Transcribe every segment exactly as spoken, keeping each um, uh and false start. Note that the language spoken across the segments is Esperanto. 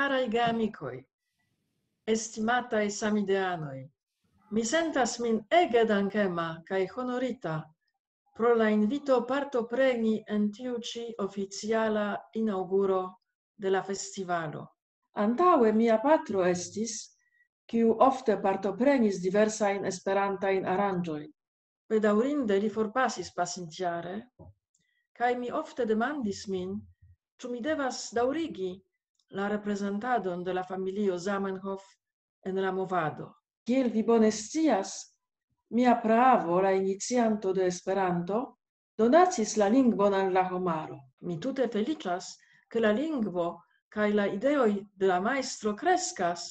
Karaj geamikoj, estimataj samideanoj, mi sentas min ege dankema kaj honorita pro la invito partopreni en tiu ĉi oficiala inaŭguro de la festivalo. Antaŭe mia patro estis, kiu ofte partoprenis diversajn esperantajn aranĝojn. Bedaŭrinde li forpasis pasintjare, kaj mi ofte demandis min, ĉu mi devas daŭrigi la reprezentadon de la familio Zamenhof en la movado. Kiel vi bone scias, mia praavo, la inicianto de Esperanto, donacis la lingvon al la homaro. Mi tute feliĉas, ke la lingvo kaj la ideoj de la majstro kreskas,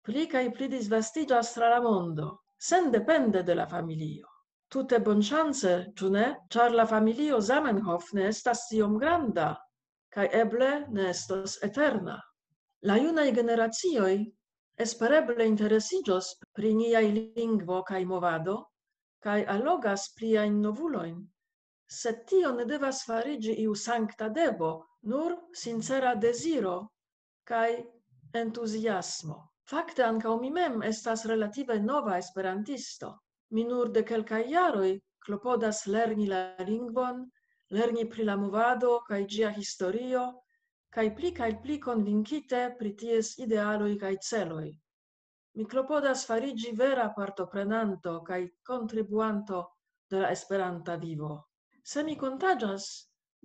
pli kaj pli disvastiĝas tra la mondo, sendepende de la familio. Tute bonŝance, ĉu ne? Ĉar la familio Zamenhof ne estas tiom granda, kaj eble ne estos eterna. La junaj generacioj espereble interesiĝos pri niaj lingvo kaj movado, kaj allogas pliajn novulojn, sed tio ne devas fariĝi iu sankta devo, nur sincera deziro kaj entuziasmo. Fakte ankaŭ mi mem estas relative nova esperantisto. Mi nur de kelkaj jaroj klopodas lerni la lingvon, lerni pri la movado kaj ĝia historio, kaj pli kaj pli konvinkite pri ties idealoj kaj celoj. Mi klopodas fariĝi vera partoprenanto kaj kontribuanto de la Esperanta vivo. Se mi kontaĝas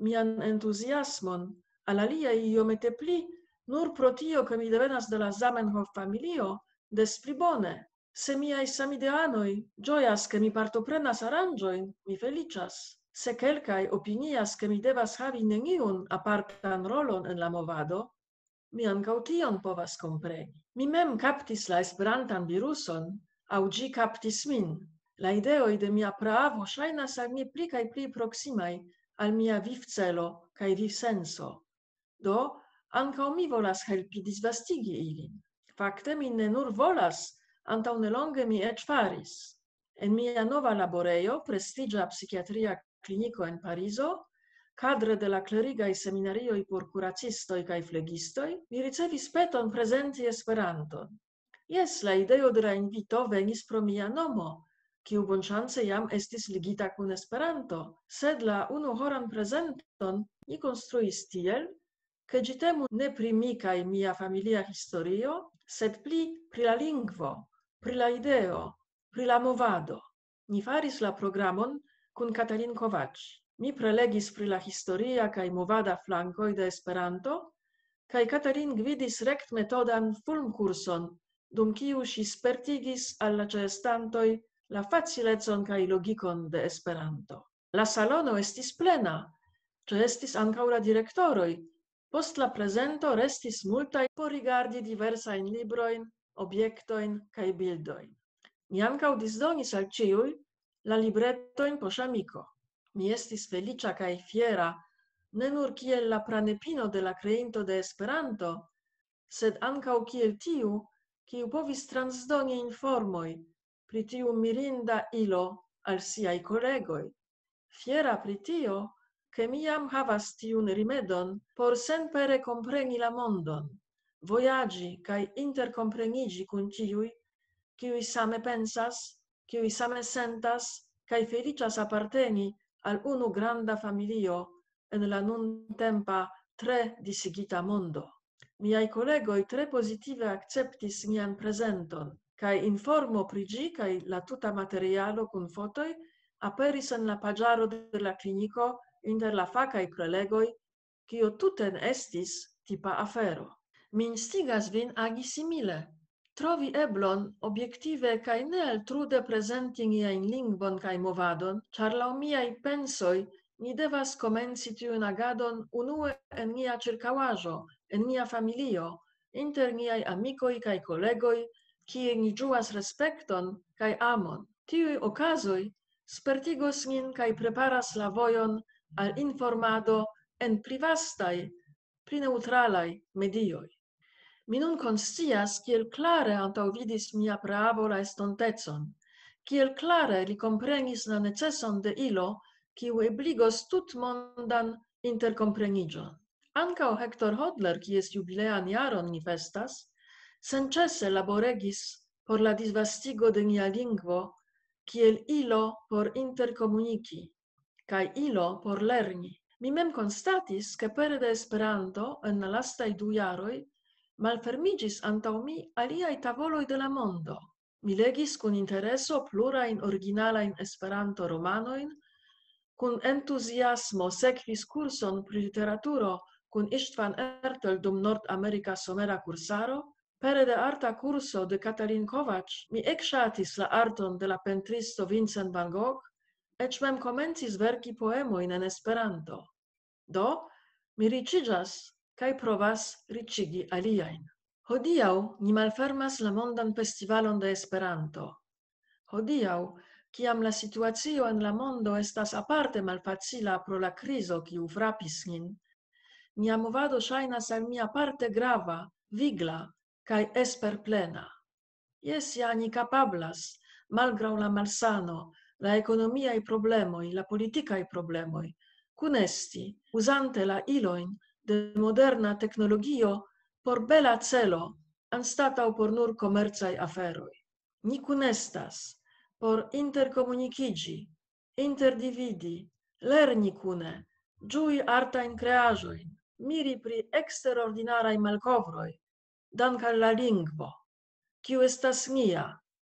mian entuziasmon al aliaj iomete pli, nur pro tio, ke mi devenas de la Zamenhof familio, des pli bone. Se miaj samideanoj ĝojas, ke mi partoprenas aranĝojn, mi feliĉas. Se kelkaj opinias, ke mi devas havi neniun apartan rolon en la movado, mi ankaŭ tion povas kompreni. Mi mem kaptis la Esperantan viruson, aŭ ĝi kaptis min. La ideoj de mia praavo ŝajnas al mi pli kaj pli proksimaj al mia vivcelo kaj vivsenso. Do, ankaŭ mi volas helpi disvastigi ilin. Fakte mi ne nur volas, antaŭ nelonge mi eĉ faris. En mia nova laborejo, prestiĝa psikiatria kliniko en Parizo, kadre de la klerigaj seminarioj por kuracistoj kaj flegistoj, mi ricevis peton prezenti Esperanton. Jes, la ideo de la invito venis pro mia nomo, kiu bonŝance jam estis ligita kun Esperanto, sed la unuhoran prezenton mi konstruis tiel, ke ĝi temu ne pri mi kaj mia familia historio, sed pli pri la lingvo, pri la ideo, pri la movado. Ni faris la programon kun Katalin Kovacs. Mi prelegis pri la historia kaj movada flankoj de Esperanto, kaj Katalin gvidis rektmetodan fulmkurson, dum kiu ŝi spertigis al la ĉeestantoj la facilecon kaj logikon de Esperanto. La salono estis plena, ĉeestis ankaŭ la direktoroj. Post la prezento restis multaj por rigardi diversajn librojn, objektojn kaj bildojn. Mi ankaŭ disdonis al ĉiuj la libretojn poŝamiko. Mi estis feliĉa kaj fiera, ne nur kiel la pranepino de la kreinto de Esperanto, sed ankaŭ kiel tiu, kiu povis transdoni informoj pri tiu mirinda ilo al siaj kolegoj. Fiera pri tio, ke mi jam havas tiun rimedon por senpere kompreni la mondon, vojaĝi kaj interkompreniĝi kun tiuj, kiuj same pensas, kiuj same sentas kaj feliĉas aparteni al unu granda familio en la nuntempa tre disigita mondo. Miaj kolegoj tre pozitive akceptis mian prezenton, kaj informo pri ĝi kaj la tuta materialo kun fotoj aperis en la paĝaro de la kliniko inter la fakaj prelegoj, kio tute ne estis tipa afero. Mi instigas vin agi simile, trovi eblon objektive kaj ne altrude prezenti niajn lingvon kaj movadon, ĉar laŭ miaj pensoj ni devas komenci tiun agadon unue en nia ĉirkaŭaĵo, en nia familio, inter niaj amikoj kaj kolegoj, kie ni ĝuas respekton kaj amon. Tiuj okazoj spertigos nin kaj preparas la vojon al informado en pli vastaj, pli neŭtralaj medioj. Mi nun konscias, kiel klare antaŭvidis mia praavo la estontecon, kiel klare li komprenis la neceson de ilo, kiu ebligos tutmondan interkompreniĝon. Ankaŭ Hector Hodler, kies jubilean jaron ni festas, senĉese laboregis por la disvastigo de nia lingvo kiel ilo por interkomuniki kaj ilo por lerni. Mi mem konstatis, ke pere de Esperanto en la lastaj du jaroj malfermiĝis antaŭ mi aliaj tavoloj de la mondo. Mi legis kun intereso plurajn originalajn Esperanto-romanojn, kun entuziasmo sekvis kurson pri literaturo kun Istvan Ertel dum Nordamerika somera kursaro, pere de arta kurso de Katalin Kovacs mi ekŝatis la arton de la pentristo Vincent van Gogh, eĉ mem komencis verki poemojn en Esperanto. Do, mi riĉiĝas kaj provas riĉigi aliajn. Hodiaŭ ni malfermas la mondan festivalon de Esperanto. Hodiaŭ, kiam la situacio en la mondo estas aparte malfacila pro la krizo, kiu frapis nin, nia movado ŝajnas al mi aparte grava, vigla kaj esperplena. Jes, ja ni kapablas, malgraŭ la malsano, la ekonomiaj problemoj, la politikaj problemoj, kunesti, uzante la ilojn de moderna teknologio por bela celo, anstataŭ por nur komercaj aferoj. Ni kunestas por interkomunikiĝi, interdividi, lerni kune, ĝui artajn kreaĵojn, miri pri eksterordinaraj malkovroj, dank' al la lingvo, kiu estas nia,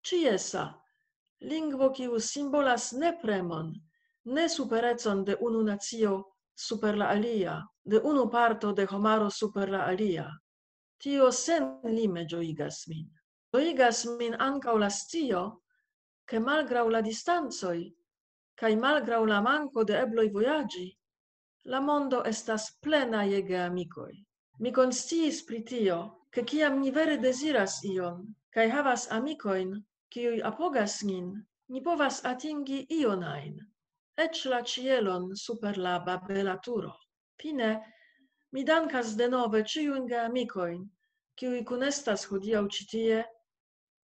ĉiesa, lingvo, kiu simbolas ne premon, ne superecon de unu nacio super la alia, de unu parto de homaro super la alia. Tio senlime ĝojigas min. Ĝojigas min ankaŭ la scio, ke malgraŭ la distancoj, kaj malgraŭ la manko de ebloj vojaĝi, la mondo estas plena je geamikoj. Mi konsciis pri tio, ke kiam ni vere deziras ion, kaj havas amikojn, kiuj apogas nin, ni povas atingi ion ajn, eĉ la ĉielon super la Babela turo. Fine, mi dankas denove ĉiujn geamikojn, kiuj kunestas hodiaŭ ĉi tie,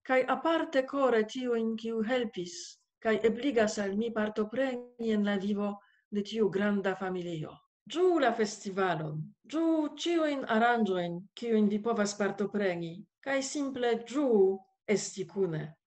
kaj aparte kore tiujn, kiuj helpis, kaj ebligas al mi partopreni en la vivo de tiu granda familio. Ĝuu la festivalon, ĝuu ĉiujn aranĝojn, kiujn vi povas partopreni, kaj simple ĝuu esti kune.